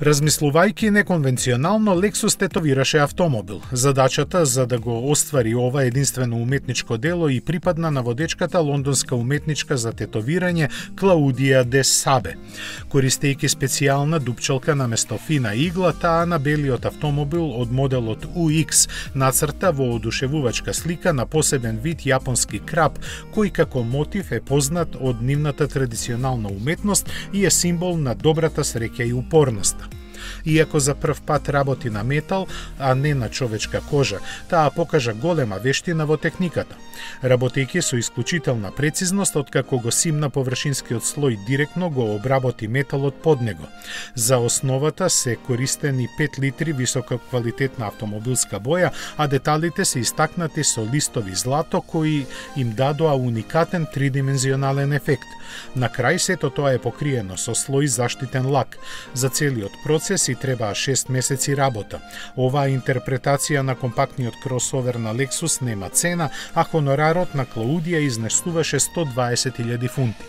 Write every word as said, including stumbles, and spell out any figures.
Размислувајќи неконвенционално, Lexus тетовираше автомобил. Задачата за да го оствари ова единствено уметничко дело и припадна на водечката лондонска уметничка за тетовирање Клаудија де Сабе. Користејќи специјална дупчалка наместо фина игла, таа на белиот автомобил од моделот У Икс нацрта воодушевувачка слика на посебен вид јапонски краб, кој како мотив е познат од нивната традиционална уметност и е символ на добрата среќа и упорноста. Иако за прв пат работи на метал, а не на човечка кожа, таа покажа голема вештина во техниката. Работејќи со исклучителна прецизност, откако го симна површинскиот слој директно го обработи металот под него. За основата се користени пет литри висококвалитетна автомобилска боја, а деталите се истакнати со листови злато кои им дадоа уникатен тридимензионален ефект. На крај сето тоа е покриено со слој заштитен лак. За целиот процес и требаа шест месеци работа. Оваа интерпретација на компактниот кросовер на Lexus нема цена, а хонорарот на Клаудија изнесуваше сто дваесет илјади фунти.